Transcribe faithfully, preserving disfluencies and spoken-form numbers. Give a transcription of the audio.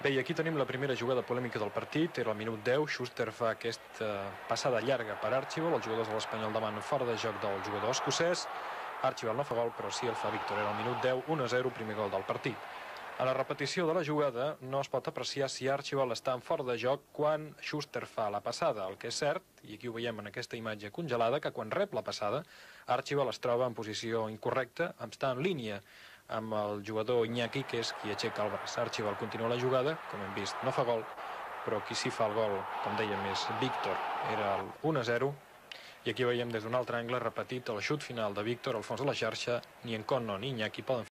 Bé, i aquí tenim la primera jugada polèmica del partit. Era al minut deu. Schuster fa aquesta passada llarga per Archibald. Els jugadors de l'Espanyol demanen fora de joc del jugador escocès. Archibald no fa gol, però sí el fa Víctor. Era al minut deu, un a zero, primer gol del partit. A la repetició de la jugada no es pot apreciar si Archibald està en fora de joc quan Schuster fa la passada. El que és cert, i aquí ho veiem en aquesta imatge congelada, que quan rep la passada, Archibald es troba en posició incorrecta, està en línia amb el jugador Iñaki, que és qui aixeca el braç. Archibald continua la jugada, com hem vist, no fa gol, però qui sí fa el gol, com dèiem, és Víctor. Era el un a zero, i aquí veiem des d'un altre angle repetit el xut final de Víctor al fons de la xarxa. Ni en Conno ni Iñaki poden